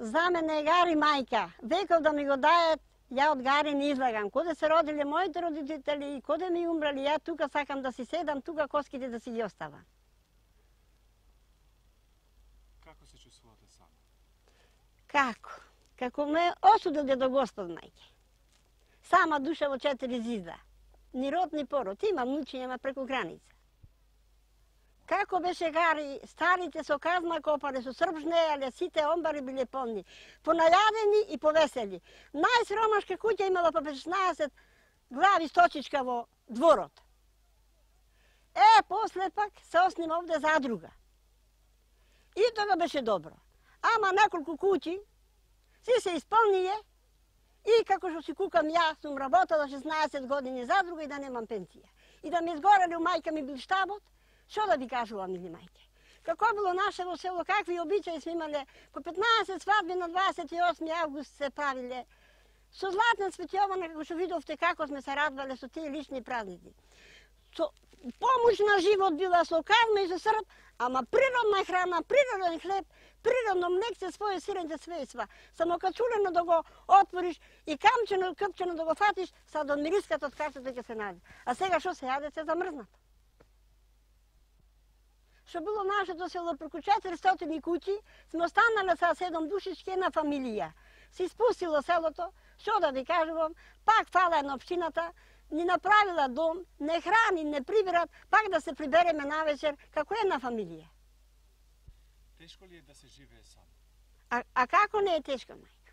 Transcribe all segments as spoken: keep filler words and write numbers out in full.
За мене е Гари мајка. Веков да ми го дајат, ја од Гари не излагам. Коде се родиле моите родители и коде ми умрали, ја тука сакам да си седам, тука коските да си ги оставам. Како се чувствувате сама? Како? Како ме осудил до Господ, мајке. Сама душа во четири зизда. Ни род, ни пород. Имам внучиња, ама преку граница. Како беше Гари, старите со казна копале, со срп жнејале, сите омбари биле полни. Понајадени и повесели. Најсромашка куќа имала по петнаесет глави сточичка во дворот. Е, после пак се оснима овде задруга. И тога беше добро. Ама неколку куќи си се исполние и како што си кукам ја, сум работала шеснаесет години задруга и да немам пенсија. И да ми изгорели у мајка ми бил штабот, што да ви кажувам, мили мајке? Како било наше во село, какви обичаи сме имале, по петнаесет свадби на дваесет и осми август се правиле. Со Златна Цветјована, како што видовте како сме се радвале со тие лични празници. Со помош на живот била со казма и со срп, ама природна храна, природен хлеб, природно млекце, своје сирење, све и сва. Само качулено да го отвориш и камчено, къпчено да го фатиш, сад од мириската од качето ќе се најде. А сега што се јаде, се замрзнато. Што било нашето село преку четиристотини куќи, сме останале са седум душички, една фамилија. Се испустило селото, што да ви кажувам, пак фала на општината, ни направила дом, не храни, не прибират, пак да се прибереме навечер, како една фамилија. Тешко ли е да се живее сам? А, а како не е тешко, мајка?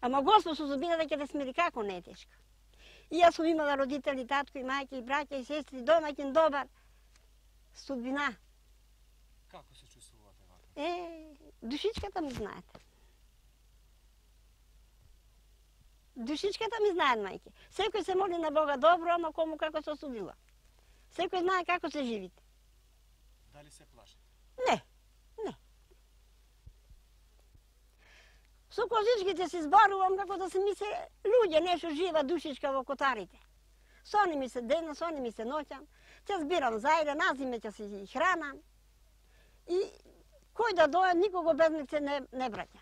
Ама Господ со зубината ќе те смири, како не е тешко. И јас сум имала родители, татко и мајка и браќа и сестри, домаќин добар. Судбина. Како се чувствувате вака? Е, душичката ми знаете. Душичката ми знаат, мајке. Секој се моли на Бога добро, ама кому како се осудила. Секој знае како се живите. Дали се плашите? Не, не. Со козичките се зборувам како да се ми се луѓе, нешто жива душичка во котарите. Со они ми се дена, со они ми се ноќам. Ќе збирам зајде, назиме ќе се хранам. И кој да дојде, никого без млекце не, не браќа.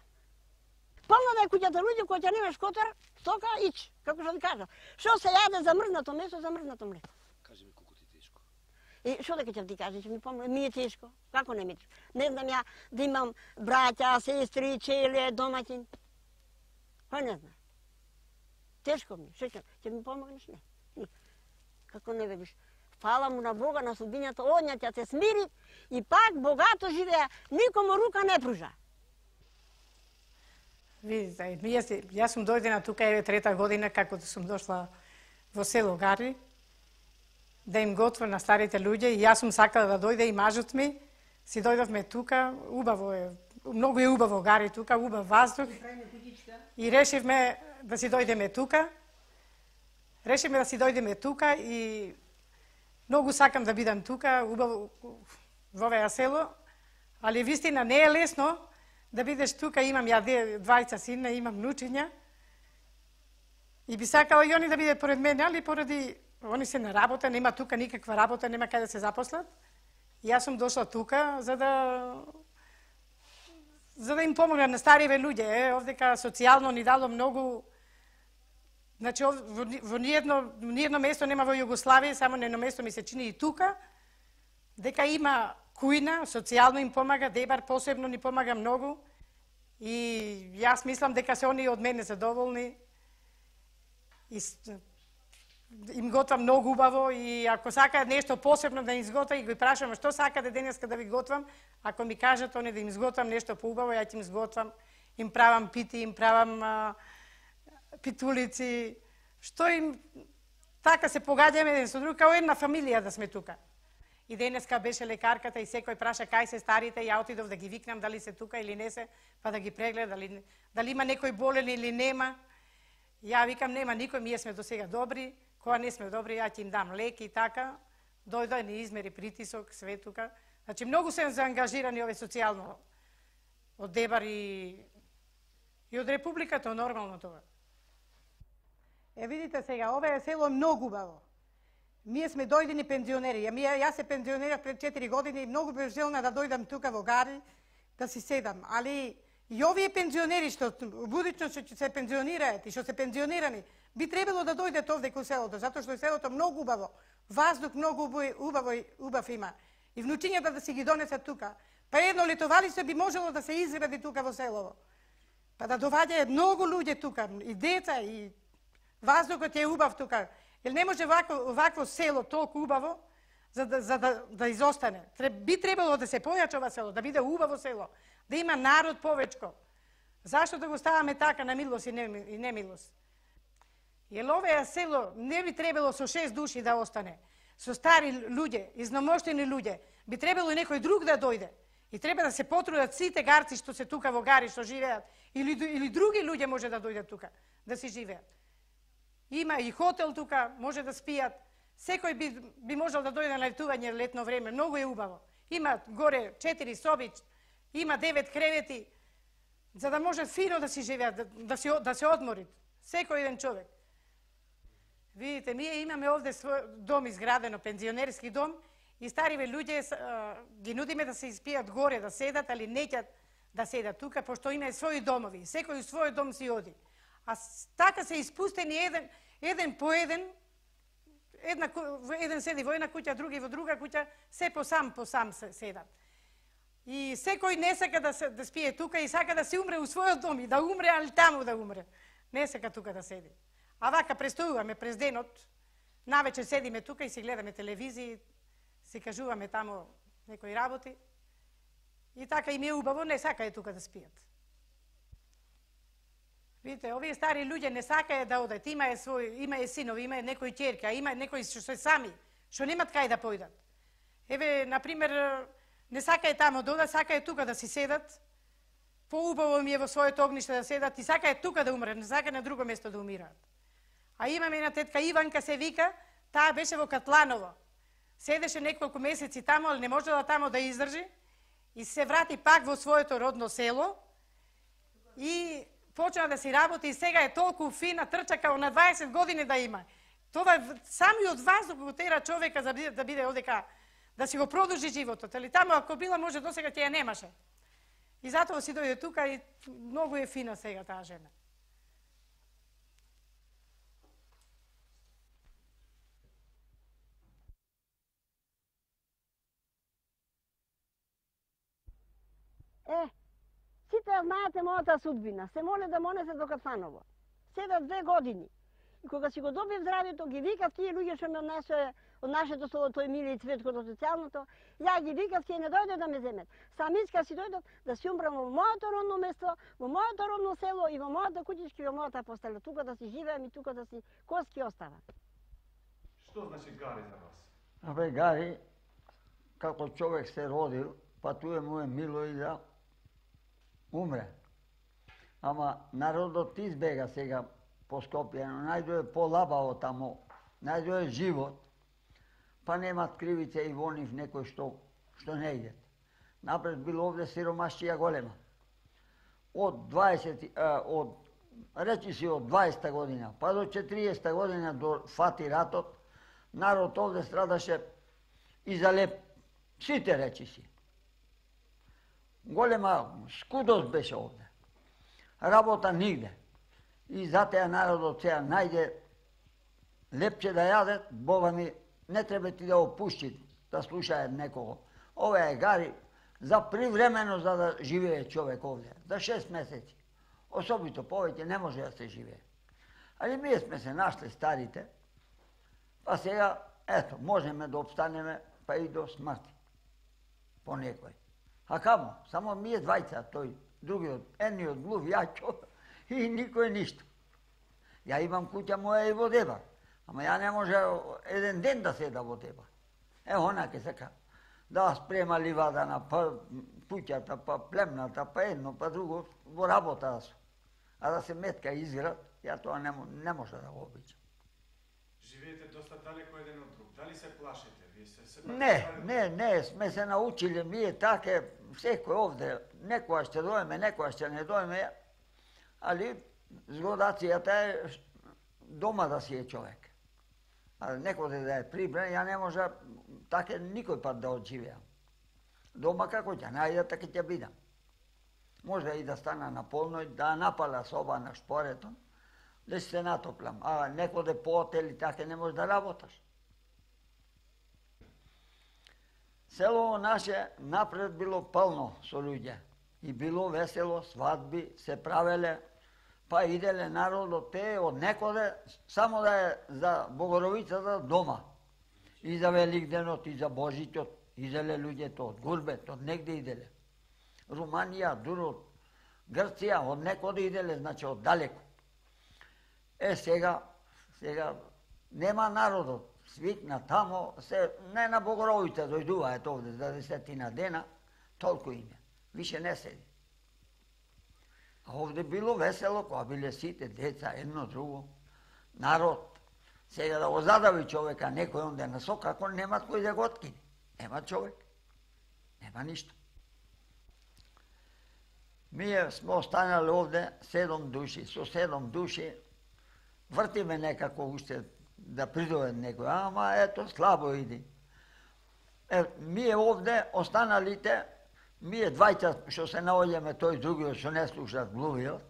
Полна да е куќата луѓе, кој ќе немаш котар, стока ич, како што ви кажа. Што се јаде замрзнато месо, замрзнато млеко. Кажи ми колку ти тешко. И што дека ќе ти кажа, ќе ми помогне, ми е тешко. Како не ми е тешко? Не знам ја да имам браќа, сестри, челе, домаќин. Кој не знае? Тешко ми, што ќе, ќе ми помогнеш? Не. Не. Како не видиш? Фала му на Бога, на судбињата, одња ќе те смири и пак богато живеа, никому рука не пружа. Видите, јас, јас сум дојдена тука еве трета година како да сум дошла во село Гари да им готвам на старите луѓе и јас сум сакала да дојде и мажот ми. Си дојдовме тука, убаво е, многу е убаво Гари тука, убав ваздух. И решивме да си дојдеме тука. Решивме да си дојдеме тука и многу сакам да бидам тука, убаво во овој село, али вистина не е лесно да бидеш тука. Имам ја двајца сина, имам внучиња. И би сакала и они да бидат поред мене, али поради они се на работа, нема тука никаква работа, нема каде да се запослат. И јас сум дошла тука за да за да им помогнам на стариве луѓе. Е, овдека социјално ни дало многу. Значи, во, во ниедно, ниедно место нема во Југославија, само на едно место ми се чини и тука, дека има кујна, социјално им помага, Дебар посебно ни помага многу. И јас мислам дека се они од мене задоволни. И им готвам многу убаво и ако сакаат нешто посебно да им изготвам и го прашам што сакате денеска да ви готвам, ако ми кажат они да им изготвам нешто поубаво, ја ќе им изготвам, им правам пити, им правам а, питулици, што им така се погаѓаме еден со друг, као една фамилија да сме тука. И денеска беше лекарката и секој праша кај се старите, ја отидов да ги викнам дали се тука или не се, па да ги прегледа дали дали има некој болен или нема. Ја викам нема никој, ние сме до сега добри, кога не сме добри ја ќе им дам лек и така. Дојде ни измери притисок, све тука. Значи многу се заангажирани ове социјално од Дебар и и од Републиката, нормално тоа. Е, видите сега, ова е село многу убаво. Ние сме дојдени пензионери. Јас се пензионерав пред четири години и многу бев желна да дојдам тука во Гари, да си седам. Али И овие пензионери што будично што ќе се пензионираат и што се пензионирани, би требало да дојдат овде кон селото, затоа што е селото многу убаво, ваздух многу убаво и убав има. И внучињата да си ги донесат тука. Па едно летовалище би можело да се изгради тука во селово. Па да доваѓаат многу луѓе тука, и деца, и ваздухот е убав тука. Или не може вакво, вакво село толку убаво за да, за да, да изостане. Би требало да се појача ова село, да биде убаво село, да има народ повечко. Зашто да го ставаме така на милост и немилост? Јер овој село не би требало со шест души да остане. Со стари луѓе, изномоштени луѓе, би требало и некој друг да дојде. И треба да се потрудат сите гарци што се тука во гари, што живеат, или, или други луѓе може да дојдат тука, да си живеат. Има и хотел тука, може да спијат. Секој би, би можел да дојде на летување летно време, многу е убаво. Има горе четири соби, има девет кревети, за да може фино да си живеат, да, да, си, да се одморит. Секој еден човек. Видите, ние имаме овде свој дом изградено, пензионерски дом, и стариве луѓе ги нудиме да се испијат горе, да седат, али неќат да седат тука, пошто има своји домови. Секој свој дом си оди. А така се испустени еден, еден по еден, една, еден седи во една куќа, други во друга куќа, се по сам, по сам седат. И секој не сака да, се, да спие тука и сака да се умре у својот дом и да умре, али таму да умре. Не сака тука да седи. А вака престојуваме през денот, навечер седиме тука и си гледаме телевизија, си кажуваме таму некои работи. И така им е убаво, не сакаја тука да спијат. Видите, овие стари луѓе не сакаја да одат, имаја свој, имаја синови, имаја некои ќерки, а има некои што се сами, што немат кај да појдат. Еве, например, не сакаја таму да одат, сакаја тука да си седат. Поубаво ми е во своето огниште да седат и сакаја тука да умрат, не сакаја на друго место да умираат. А имаме една тетка Иванка се вика, таа беше во Катланово. Седеше неколку месеци таму, ali не можела таму да издржи и се врати пак во своето родно село и почна да си работи и сега е толку фина, трча као на дваесет години да има. Това самиот воздух го тера човека за да биде одека, да си го продолжи животот. Али таму ако била може досега ќе ја немаше. И затоа си дојде тука и многу е фина сега таа жена. Е, сите ја знаете мојата судбина. Се моле да монесе до Катланово. Седат две години. И кога си го добив здравието, ги викав тие луѓе што ме однесе од нашето село, тој Миле и Цветко до социјалното, ја ги викав, тие не дојде да ме земет. Самичка си дојдат да си умрам во моето родно место, во моето родно село и во мојата куќичка и во мојата постела. Тука да си живеам и тука да си коски оставам. Што значи Гари за вас? Абе, Гари, како човек се родил, па туе му е мило и да умре. Ама народот избега сега по Скопје, но најдоје полабаво тамо, најдоје живот, па немат кривица и во нив некој што, што не идет. Напред било овде сиромашчија голема. Од дваесет, а, од, речи си од дваесета година, па до четириесета година до фати ратот, народ овде страдаше и за леп. Сите речи си. Голема скудост беше овде. Работа нигде. И затоа народот сега најде лепче да јадет, Бога ми, не треба ти да опушти, да слушаат некого. Ова е Гари за привремено за да живее човек овде, за шест месеци. Особито повеќе не може да се живее. Али ние сме се нашли старите, па сега, ето, можеме да обстанеме, па и до смрти. По некој. А камо? Само ние двајца, тој другиот, едниот глув, јачо, и никој ништо. Ја имам куќа моја и во Дебар, ама ја не може еден ден да седа во Дебар. Е, она ке сака да спрема ливадана, па пуќата, па племната, па едно, па друго, во работа да су. А да се метка изград, ја тоа не, не може да го обичам. Живеете доста далеко еден од друг. Дали се плашите? Вие се се Не, не, не, сме се научиле, ние така, секој овде, некоја ќе дојме, некоја ќе не дојме, али згодацијата е дома да си е човек. А некој да е прибран, ја не може така никој пат да одживеам. Дома како ќе најдам, така ќе бидам. може и да стана на полној, да напала соба на шпорето, да се натоплам. А некоде по отели така не може да работаш. Село наше напред било пълно со луѓе. И било весело, свадби се правеле, па иделе народот те од некоде, само да е за Богоровицата дома. И за Великденот, и за Божитот, иделе луѓето од Гурбет, од негде иделе. Руманија, дуро, Грција, од некоде иделе, значи од далеко. Е, сега, сега, нема народот, свикна тамо, се, не на Богоровица дојдуваат овде за десетина дена, толку име. Више не седи. А овде било весело, кога биле сите деца, едно друго, народ. Сега да го задави човека некој онде на сок, ако немат кој да го откине. Нема човек. Нема ништо. Ние сме останали овде седом души. Со седом души вртиме некако уште да придове некој, ама ето слабо иди. Е, ние овде останалите, ние двајца што се наоѓаме тој другиот што не слушат глувиот,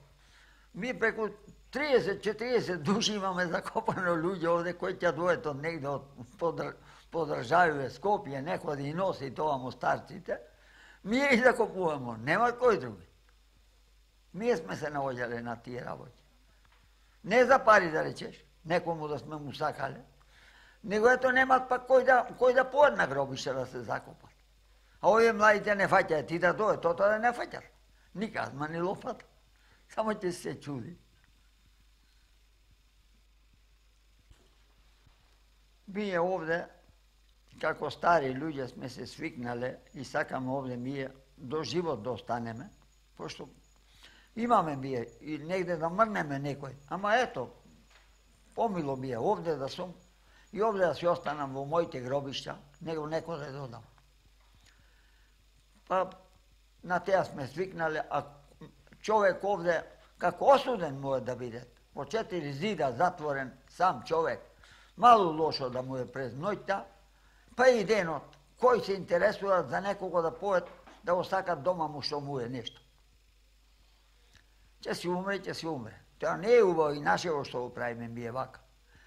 ми преку триесет-четиесет души имаме закопано луѓе овде кои ќе дојдат од негде од подржавиве Скопје, некој да и носи тоа му старците, ние и закопуваме, нема кој други. Ние сме се наоѓале на тие работи. Не за пари да речеш, некому да сме му сакале, него ето немат пак кој да, кој да поед на гробище да се закопат. А овие младите не фаќаат, ти да дојде, тото да не фаќат. Никад, ма ни лопата. Само ќе се чуди. Ние овде, како стари луѓе сме се свикнале и сакаме овде ние до живот да останеме, пошто имаме ние и негде да мрнеме некој. Ама ето, помило ми е овде да сум и овде да си останам во моите гробишта, него некој да додам. Па на теа сме свикнале, а човек овде како осуден може да биде. Во четири зида затворен сам човек, мало лошо да му е през ноќта, па и денот, кој се интересува за некого да поет, да го сакат дома му што му е нешто. Ќе си умре, ќе си умре. Тоа не е убаво и нашево што го правиме ми е вака.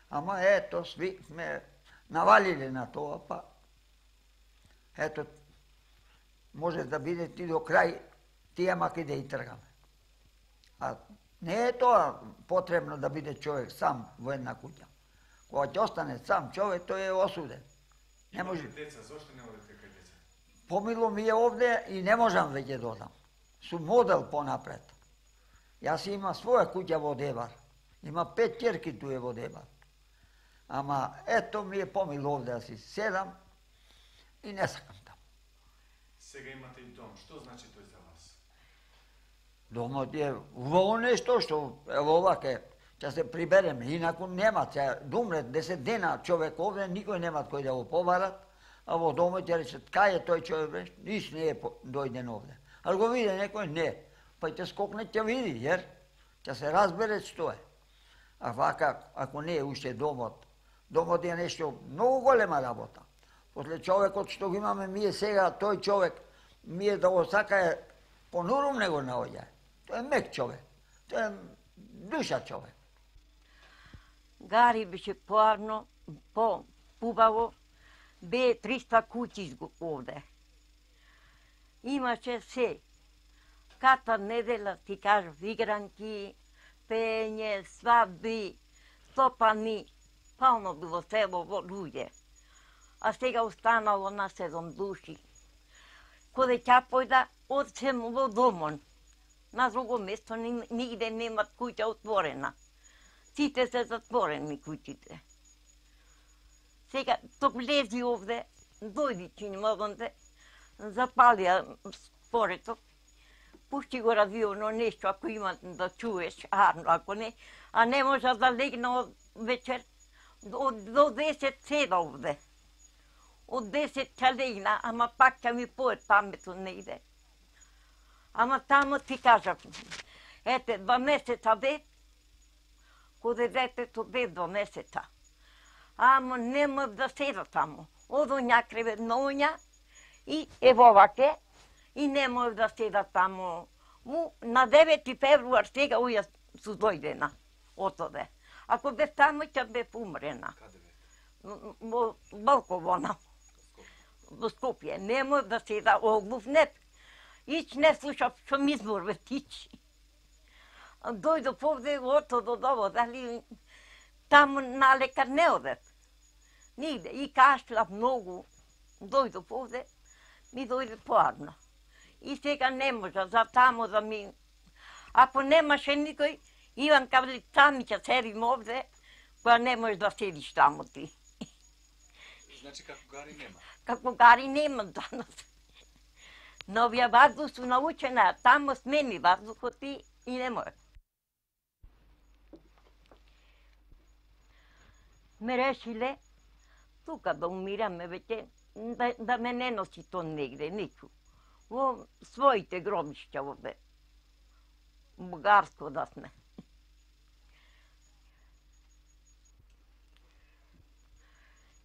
Ама ето, сви сме навалиле на тоа, па ето, може да биде ти до крај, тие маки да и тргаме. А не е тоа потребно да биде човек сам во една куќа. Кога ќе остане сам човек, тој е осуден. Не може. Деца, зошто не одите кај деца? Помило ми е овде и не можам веќе додам. Сум модел понапред. Јас имам своја куќа во Дебар. Има пет ќерки туе во Дебар. Ама ето ми е помило овде да си седам и не сакам таму. Сега имате и дом. Што значи тој за вас? Домот е убаво нешто што ево оваке ќе се прибереме, инаку нема, ќе думре десет дена човек овде, никој нема кој да го побарат, а во домот ќе речат, кај е тој човек, бреш, ниш не е дојден овде. А го види некој, не, па ќе скокне, ќе види, јер, ќе се разбере што е. А вака, ако не е уште домот, домот е нешто многу голема работа. После човекот што го имаме ние сега, тој човек, ние да го сакае, понурум не го наоѓа. Тој е мек човек, тој е душа човек. Гари беше поарно, по-убаво, бе триста куќи овде. Имаше се. Ката недела, ти кажав, игранки, пење, свадби, стопани, пално било село во луѓе. А сега останало на седом души. Коде ќе појда, одсем во домон. На друго место нигде немат куќа отворена. Сите се затворени куќите. Сега, ток влези овде, дојди чинимогонде, запалија спорето, пушти го радионо нешто, ако има да чуеш, арно, ако не, а не може да легна вечер, до, до десет седа овде. Од десет ќе легна, ама пак ќе ми поет паметот не иде. Ама тамо ти кажав, ете, два месеца бе, коде детето бе два месеца. Ама нема да седа тамо. Одо някреве ноња и ево ваке, и не може да седа тамо Му на девети февруар сега уја су дојдена отоде. Ако бе таму, ќе бе умрена. Каде бе? Во Балковона. Во Скопје. Нема да се да оглувнет. Ич не слушав што ми зборвет, ич. Дојдов овде, ото до дово, дали таму на лекар не одет. Нигде. И кашлав многу. Дојдов овде, ми дојде поарно. И сега не може, за таму да ми... Ако немаше никој, Иван кавли, сами ќе седим овде, која не можеш да седиш таму ти. Значи како гари нема? Како гари нема данас. Но овие ваздух су научена, таму смени ваздухот и, и не може. Ме решиле, тука да умираме веќе, да, да ме не носи то негде, нику. Во своите гробишќа овде. Бугарско да сме.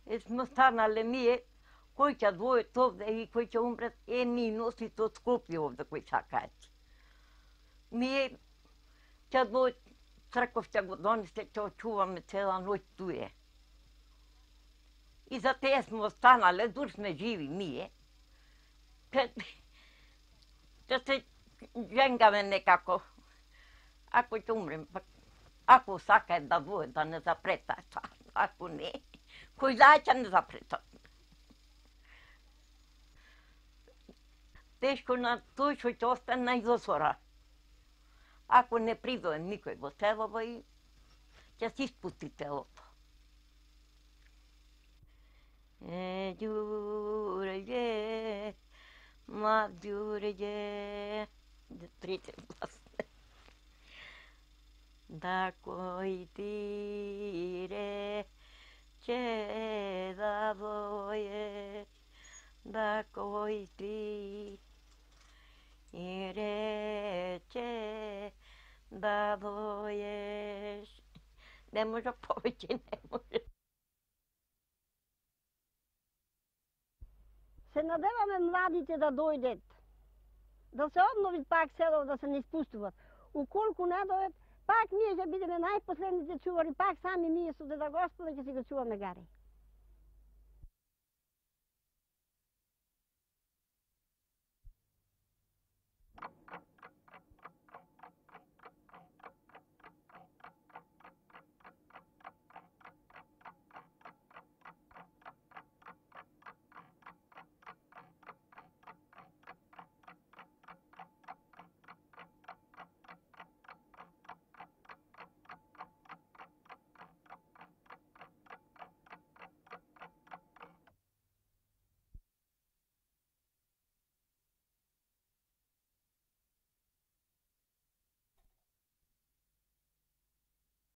Е сме станале ние, кој ќе двојат овде и кој ќе умрет, е ми носите од Скопје овде кој сакаат. Ние ќе двојат, црков ќе го донесе, ќе очуваме цела ноќ туе. И за тие сме останале, дур сме живи ние. Ќе се женгаме некако. Ако ќе умрем, пак, ако сакаат да двојат, да не запретаат, ако не, кој знае ќе не запретат. Тешко на тој што ќе остане на изосора. Ако не придоe никој во селово и ќе се испусти телото. Е, ѓуреѓе, ма ѓуреѓе, трите гласне. Да кој ти рече да дојеш, да кој ти и рече да дојеш. Не може повеќе, не може. Се надеваме младите да дојдат, да се обнови пак село, да се не испустуват. Уколку не дојдат, пак ние ќе бидеме најпоследните чувари, пак сами ние со Деда Господа ќе си го чуваме гари.